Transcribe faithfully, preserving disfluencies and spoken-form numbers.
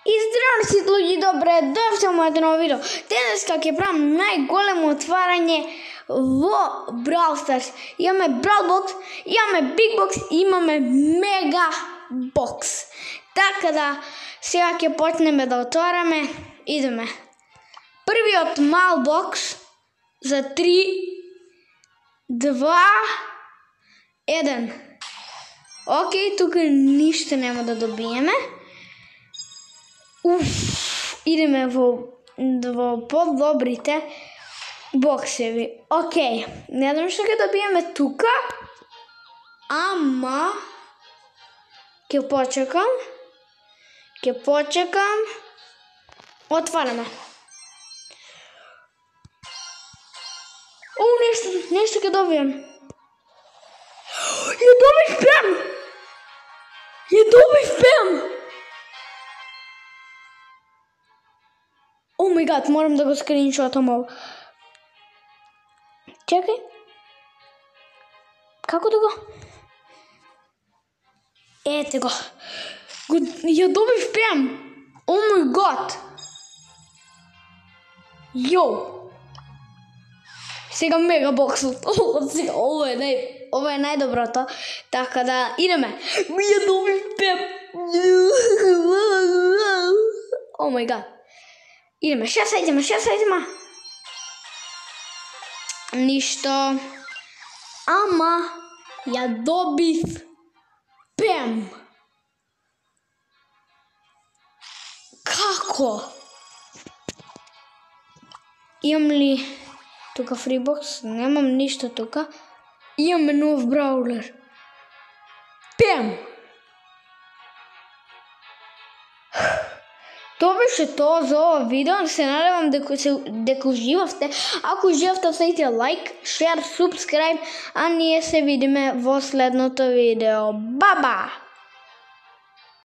И здраво сите луѓе, добре дојавте во моето ново видео. Денеска ќе правам најголемо отварање во Brawl Stars. Имаме Brawl Box, имаме Big Box, имаме Mega Box. Така да сега ќе почнеме да отвараме. Идеме. Првиот мал бокс за три, два, еден. Океј, тука ништо нема да добиеме. Уф, идеме во, во подобрите боксеви. Океј, не знам што ќе добиеме тука, ама ќе почекам, ќе почекам, отвараме. О, нешто, нешто ќе добием. Ја добив пем! Ја добив пем! О май гад, морам да го скриншотам ово. Чекај. Како да го? Ете го. го ја добив пем. О май гад. Јо. Сега мега боксот. О, сега ово е нај ово е најдоброто. Така да идеме. Ја добив пем. О май гад. Идеме, шест сајдима, шест сајдима. Ништо. Ама ја добив пем. Како? Имам ли тука фрибокс? Немам ништо тука. Имаме нов браулер. Пем. Тоа беше тоа за ова видео. Се надевам дека се дека уживавте. Ако уживавте, оставите лайк, шер, субскрайб, а ние се видиме во следното видео. Баба!